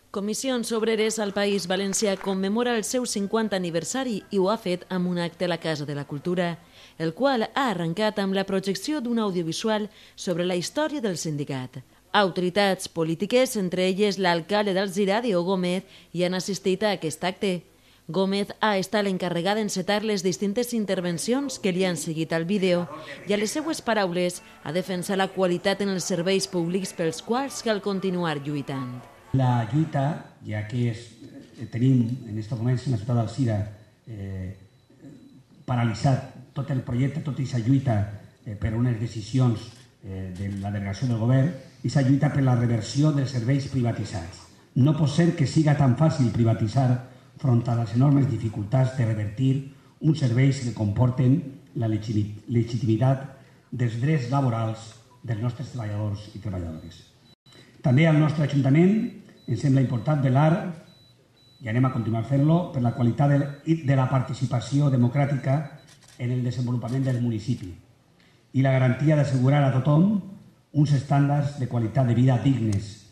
Comissions Obreres al País Valencià commemora el seu 50 aniversari i ho ha fet amb un acte a la Casa de la Cultura, el qual ha arrencat amb la projecció d'un audiovisual sobre la història del sindicat. Autoritats polítiques, entre elles l'alcalde d'Alzira, Diego Gómez, hi han assistit a aquest acte. Gómez ha estat l'encarregat d'encetar les distintes intervencions que li han seguit al vídeo i a les seues paraules ha defensat la qualitat en els serveis públics pels quals cal continuar lluitant. La lluita, ja que tenim en aquests moments en la ciutat d'Alzira paralitzat tot el projecte, tota aquesta lluita per unes decisions de la delegació del govern, aquesta lluita per la reversió dels serveis privatitzats. No pot ser que siga tan fàcil privatitzar front a les enormes dificultats de revertir uns serveis que comporten la legitimitat dels drets laborals dels nostres treballadors i treballadores. També al nostre Ajuntament ens sembla important velar, i anem a continuar fent-lo, per la qualitat de la participació democràtica en el desenvolupament del municipi i la garantia d'assegurar a tothom uns estàndards de qualitat de vida dignes.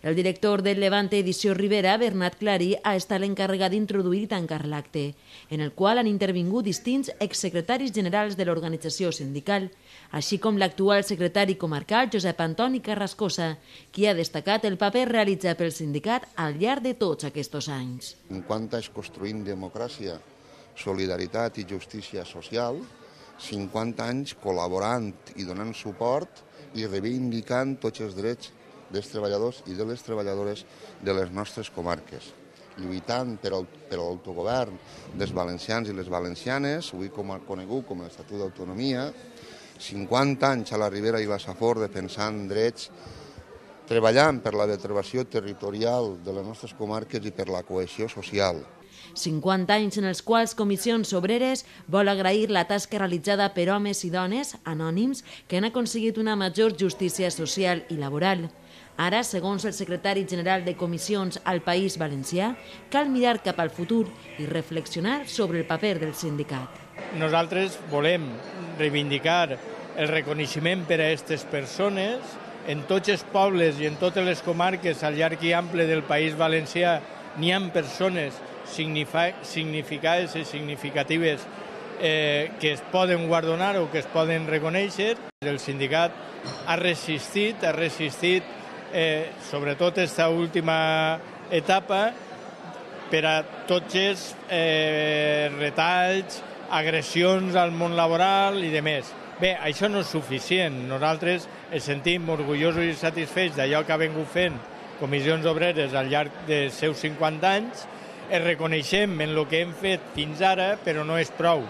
El director del Levante Edició Rivera, Bernat Clarí, ha estat l'encarregat d'introduir i tancar l'acte, en el qual han intervingut distints exsecretaris generals de l'organització sindical, així com l'actual secretari comarcal, Josep Antoni Carrascosa, qui ha destacat el paper realitzat pel sindicat al llarg de tots aquests anys. 50 anys construint democràcia, solidaritat i justícia social, 50 anys col·laborant i donant suport i reivindicant tots els drets dels treballadors i de les treballadores de les nostres comarques, lluitant per l'autogovern dels valencians i les valencianes, avui conegut com l'Estatut d'Autonomia, 50 anys a la Ribera i la Safor defensant drets, treballant per la vertebració territorial de les nostres comarques i per la cohesió social. 50 anys en els quals Comissions Obreres vol agrair la tasca realitzada per homes i dones anònims que han aconseguit una major justícia social i laboral. Ara, segons el secretari general de Comissions al País Valencià, cal mirar cap al futur i reflexionar sobre el paper del sindicat. Nosaltres volem reivindicar el reconeixement per a aquestes persones. En tots els pobles i en totes les comarques al llarg i ample del País Valencià n'hi ha persones significades i significatives que es poden guardonar o que es poden reconèixer. El sindicat ha resistit sobretot aquesta última etapa per a tots els retalls, agressions al món laboral i demés. Bé, això no és suficient. Nosaltres ens sentim orgullosos i satisfets d'allò que ha vingut fent Comissions Obreres al llarg dels seus 50 anys. Es reconeixem en el que hem fet fins ara, però no és prou.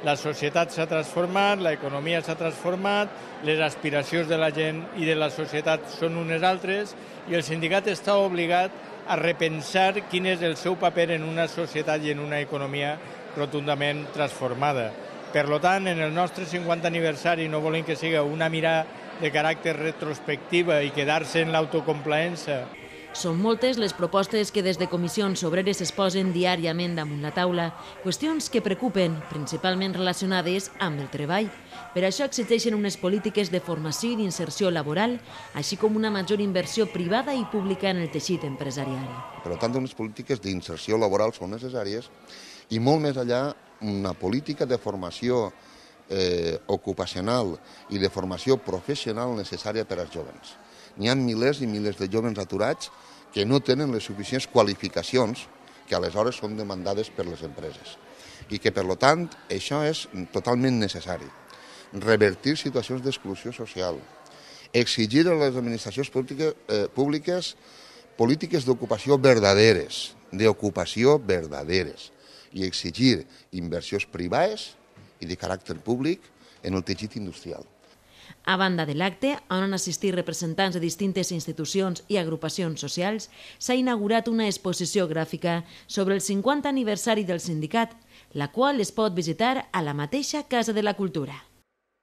La societat s'ha transformat, l'economia s'ha transformat, les aspiracions de la gent i de la societat són unes altres i el sindicat està obligat a repensar quin és el seu paper en una societat i en una economia rotundament transformada. Per tant, en el nostre 50 aniversari no volem que sigui una mirada de caràcter retrospectiva i quedar-se en l'autocomplaença. Són moltes les propostes que des de Comissions Obreres es posen diàriament damunt la taula, qüestions que preocupen, principalment relacionades amb el treball. Per això exigeixen unes polítiques de formació i d'inserció laboral, així com una major inversió privada i pública en el teixit empresarial. Per tant, unes polítiques d'inserció laboral són necessàries i molt més enllà una política de formació ocupacional i de formació professional necessària per als jóvens. N'hi ha milers i milers de jóvens aturats que no tenen les suficients qualificacions que aleshores són demandades per les empreses i que, per tant, això és totalment necessari. Revertir situacions d'exclusió social, exigir a les administracions públiques polítiques d'ocupació verdaderes, i exigir inversions privades i de caràcter públic en el teixit industrial. A banda de l'acte, on han assistit representants de distintes institucions i agrupacions socials, s'ha inaugurat una exposició gràfica sobre el 50 aniversari del sindicat, la qual es pot visitar a la mateixa Casa de la Cultura.